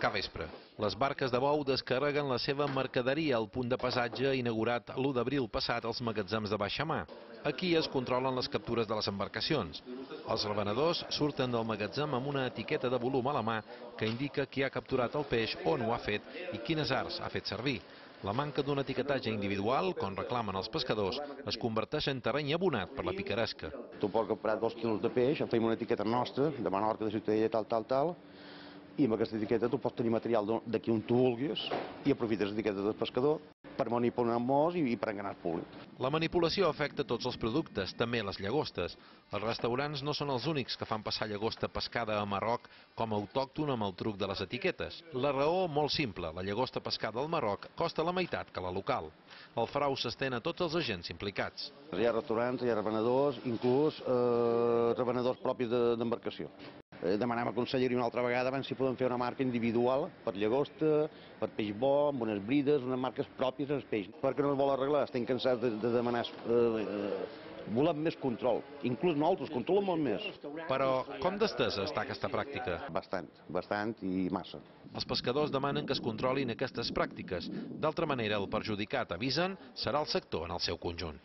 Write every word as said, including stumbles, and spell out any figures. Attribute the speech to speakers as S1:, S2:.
S1: capvespre. Les barques de bou descarreguen la seva mercaderia al punt de passatge inaugurat l'u d'abril passat als magatzems de baixa mar. Aquí es controlen les captures de les embarcacions. Els revenedors surten del magatzem amb una etiqueta de volum a la mà que indica qui ha capturat el peix, on ho ha fet i quines arts ha fet servir. La manca d'un etiquetatge individual, com reclamen els pescadors, es converteix en terreny abonat per la picaresca.
S2: Tu pots comprar dos quilos de peix, fem una etiqueta nostra, de Menorca, de Ciutadella, tal, tal, tal, i amb aquesta etiqueta tu pots tenir material d'aquí on tu vulguis i aprofites l'etiqueta del pescador per manipular molts i per enganar el públic.
S1: La manipulació afecta tots els productes, també les llagostes. Els restaurants no són els únics que fan passar llagosta pescada a Marroc com a autòctona amb el truc de les etiquetes. La raó, molt simple, la llagosta pescada al Marroc costa la meitat que la local. El frau s'estén a tots els agents implicats.
S2: Hi ha restaurants, hi ha revenedors, inclús eh, revenedors propis d'embarcació. Eh, demanem a Conselleria una altra vegada abans si podem fer una marca individual per llagosta, per peix bo, amb unes brides, unes marques pròpies del peix. Perquè no es vol arreglar, estem cansats de, de demanar... Eh, eh, volem més control, inclús nosaltres controlem molt més.
S1: Però com d'estesa està aquesta pràctica?
S2: Bastant, bastant i massa.
S1: Els pescadors demanen que es controlin aquestes pràctiques. D'altra manera, el perjudicat, avisen, serà el sector en el seu conjunt.